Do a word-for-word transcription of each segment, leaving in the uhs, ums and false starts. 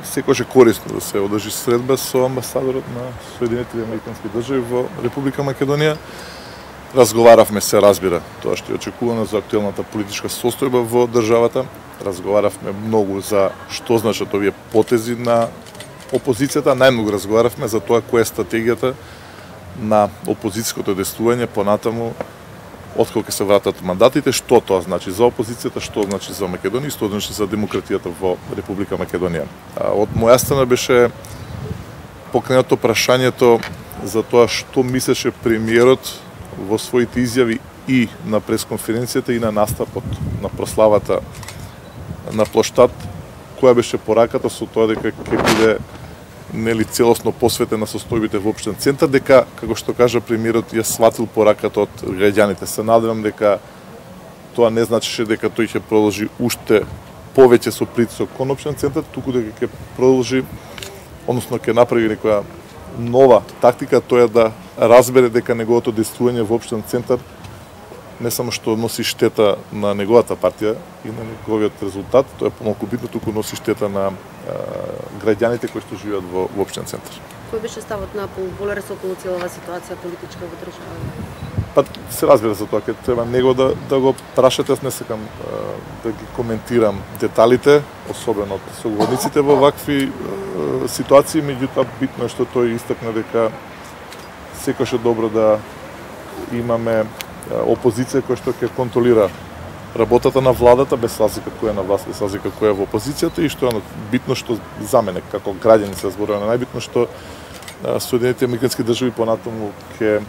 секогаш е корисно да се одржи средба со амбасадорот на Соединетите Американски држави во Република Македонија. Разговаравме, се разбира, тоа што е очекувано за актуелната политичка состојба во државата. Разговаравме многу за што значат овие потези на опозицијата. Најмногу разговаравме за тоа која е стратегијата на опозицијското действување понатаму откако ќе се вратат мандатите, што тоа значи за опозицијата, што значи за Македонија и што значи за демократијата во Република Македонија. Од моја страна беше покренато прашањето за тоа што мислеше премиерот во своите изјави и на пресконференцијата и на настапот на прославата на плоштад, која беше пораката со тоа дека ќе биде нели целосно посветена состојбите во општен центар, дека, како што кажа премиерот, ја сватил пораката од граѓаните. Се надевам дека тоа не значеше дека тој ќе продолжи уште повеќе со притисок кон општен центар, туку дека ќе продолжи, односно ќе направи некоја нова тактика, тоа е да разбере дека неговото действување во општен центар не само што носи штета на неговата партија и на неговиот резултат, тоа е помалку битно, туку носи штета на а, граѓаните кои што живеат во, во општен центар. Кој беше ставот на Волерес околу целава ситуација политичка во државата? Па се разбира за тоа, ќе треба него да, да го прашате, аз не сакам а, да ги коментирам деталите, особено од соговорниците во вакви а, ситуации, меѓутоа битно е што тој истакна дека секојаш е добро да имаме опозиција која што ќе контролира работата на владата без разлика која е на власт, без разлика која е во опозицијата, и што е битно што за мене како граѓани се зборува на најбитно што Соединетите Американски држави понатаму ќе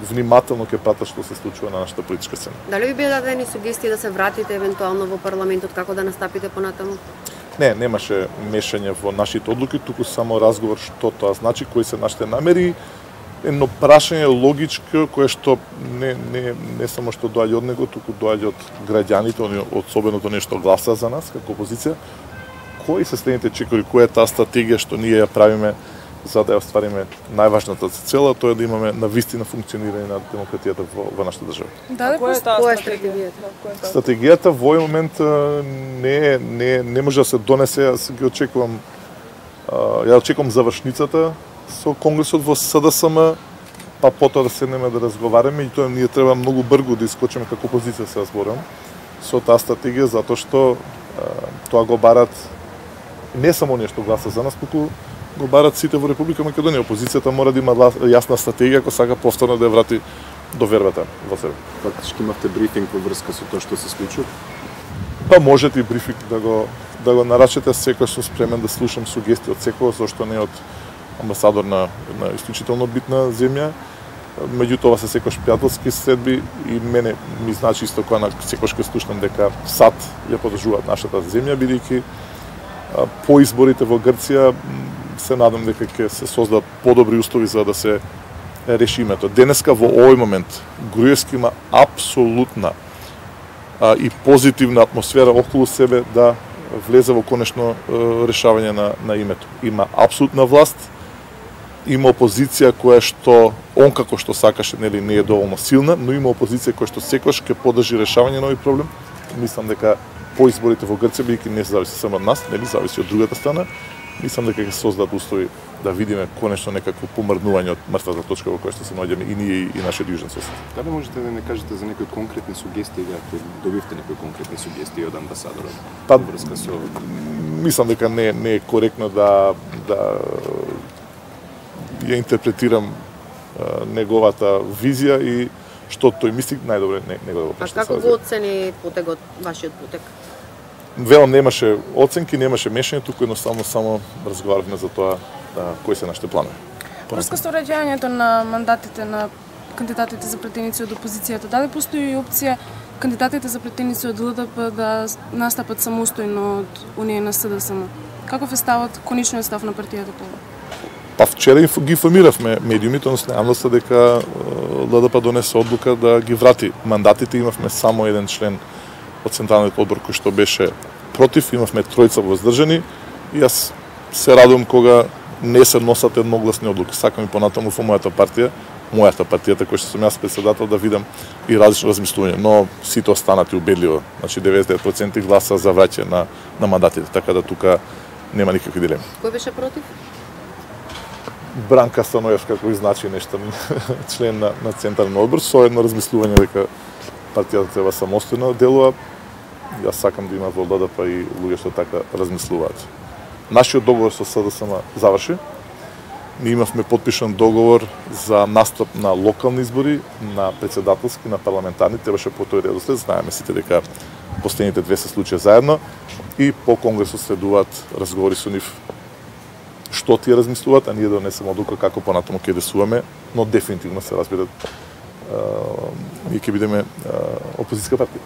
внимателно ќе пратат што се случува на нашата политичка сцена. Дали ви беа дадени сугестии да се вратите евентуално во парламентот, како да настапите понатаму? Не, немаше мешање во нашите одлуки, туку само разговор што тоа значи, кои се нашите намери, едно прашање логичко кое што не, не, не само што доаѓа од него, туку доаѓа од граѓаните, особеното нешто гласа за нас како опозиција. Кои се следните чекори, која е таа стратегија што ние ја правиме за да ја оствариме најважната цела, тоа е да имаме навистина функционирање на демократијата во, во нашата држава. Да, која е таа стратегијата? Стратегијата во овој момент не не не може да се донесе, јас ги очекувам ја очекувам завршницата со Конгресот во С Д С М, па потоа да седнеме да разговараме, и тоа ние треба многу брзо да искочиме како опозиција, се разборам, со таа стратегија, затоа што тоа го барат не само оние што гласа за нас, туку го барат сите во Република Македонија. Опозицијата мора да има јасна стратегија ако сака повторно да ја врати довербата во себе. Фактички имавте брифинг во врска со тоа што се случува? Па можете и брифинг да го да го нарачете, секој сум спремен да слушам сугестии од секој, зашто не од амбасадор на една исклучително битна земја. Меѓутоа се секојаш пријателски средби и мене ми значи исто кога на секојаш ќе слушнам дека САД ја подржуваат нашата земја, бидејќи по изборите во Грција се надам дека ќе се создадат подобри услови за да се реши името. Денеска во овој момент Груевски има апсолутна а, и позитивна атмосфера околу себе да влезе во конечно решавање на, на името. Има апсолутна власт, има опозиција која што он како што сакаше, нели, не е доволно силна, но има опозиција која што секогаш ќе поддржи решавање на овој проблем. Мислам дека по изборите во Грција, бидејќи не зависи само од нас, нели, зависи од другата страна, мислам дека ќе се создадат услови да видиме конечно некакво помрднување од мртвата точка во која што се наоѓаме и ние и нашиот јужен сосед. Дали можете да не кажете за некои конкретни сугестии, ако добивте некои конкретни сугестии од амбасадорот? Па, врска со мислам дека не не е коректно да да ја интерпретирам а, неговата визија и што тој мисли, најдобре не него да го прашате. А како го оцени потегот, вашиот потег? Велам, немаше оценки, немаше мешање, туку едноставно само разговаравме за тоа да, кои се нашите планови. Врска со уреѓањето на мандатите на кандидатите за претеници од опозицијата, дали постои и опција кандидатите за претеници од Л Д П да настапат самостојно од Унија на С Д С М? Каков е ставот, конечниот став на партијата тоа? Па вчера ги информиравме медиумите, односно јавноста, дека Л Д П донесе одлука да ги врати мандатите. Имавме само еден член од Централниот одбор кој што беше против, имавме тројца воздржани и јас се радувам кога не се носат едногласни одлуки. Сакам и понатаму во мојата партија, мојата партијата која што сум јас председател, да видам и различно размислување, но сите останати убедливо. Значи деветдесет и девет проценти гласа за враќање на на мандатите, така да тука нема никакви дилеми. Кој беше против? Бранка Станоевска, кој значи нешто член на, на Централен одбор, со едно размислување дека партијата треба самостојно да делува. Јас сакам да има во Л D П и луѓе што така размислуваат. Нашиот договор со С Д С М заврши. Ние имавме подпишан договор за настап на локални избори, на председателски, на парламентарни, требаше по тој редослед, знаеме сите дека последните две се случија заедно и по конгресот следуваат разговори со нив што тие размислуваат, а ние да донесеме одлука како понатаму ќе действуваме, но дефинитивно се разбира, ние ќе бидеме опозицијска партија.